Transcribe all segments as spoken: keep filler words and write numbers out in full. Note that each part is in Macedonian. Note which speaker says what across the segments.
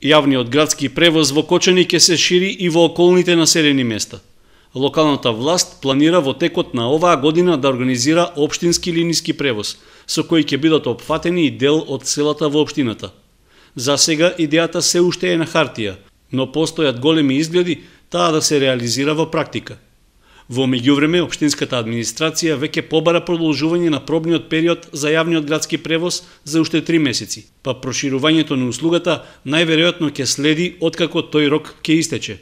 Speaker 1: Јавниот градски превоз во Кочани ќе се шири и во околните населени места. Локалната власт планира во текот на оваа година да организира општински линиски превоз, со кој ќе бидат опфатени и дел од селата во општината. За сега идејата се уште е на хартија, но постојат големи изгледи таа да се реализира во практика. Во меѓувреме, општинската администрација веќе побара продолжување на пробниот период за јавниот градски превоз за уште три месеци, па проширувањето на услугата најверојатно ќе следи откако тој рок ќе истече.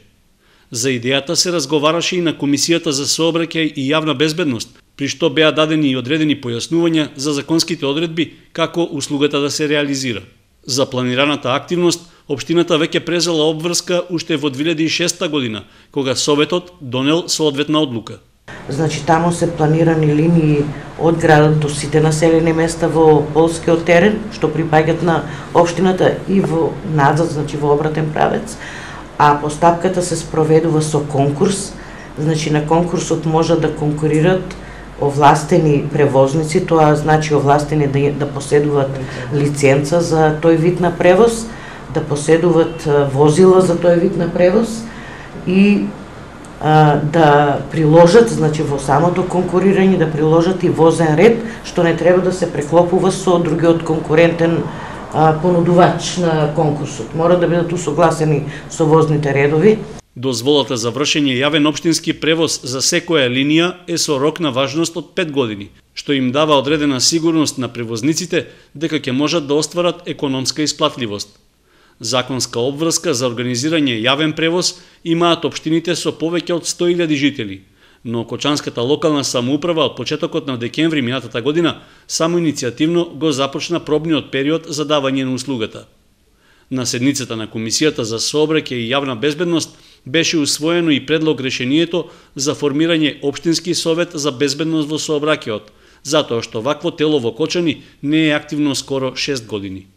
Speaker 1: За идејата се разговараше и на Комисијата за сообраќај и јавна безбедност, при што беа дадени и одредени појаснувања за законските одредби како услугата да се реализира. За планираната активност, општината веќе презела обврска уште во две илјади и шеста година, кога Советот донел соодветна одлука.
Speaker 2: Значи, таму се планирани линии од градот до сите населени места во полскиот терен, што припаѓаат на општината и во назад, значи во обратен правец, а постапката се спроведува со конкурс. Значи, на конкурсот можат да конкурират овластени превозници, тоа значи овластени да, да поседуваат лиценца за тој вид на превоз, да поседуваат возила за тој вид на превоз и а, да приложат, значи во самото конкурирање, да приложат и возен ред, што не треба да се преклопува со другиот конкурентен а, понудувач на конкурсот. Мора да бидат усогласени со возните редови.
Speaker 1: Дозволата за вршење јавен општински превоз за секоја линија е со рок на важност од пет години, што им дава одредена сигурност на превозниците дека ќе можат да остварат економска исплатливост. Законска обврска за организирање јавен превоз имаат општините со повеќе од сто илјади жители, но Кочанската локална самоуправа од почетокот на декември минатата година само иницијативно го започна пробниот период за давање на услугата. На седницата на Комисијата за сообраќај и јавна безбедност беше усвоено и предлог решението за формирање општински совет за безбедност во сообраќајот, затоа што вакво тело во Кочани не е активно скоро шест години.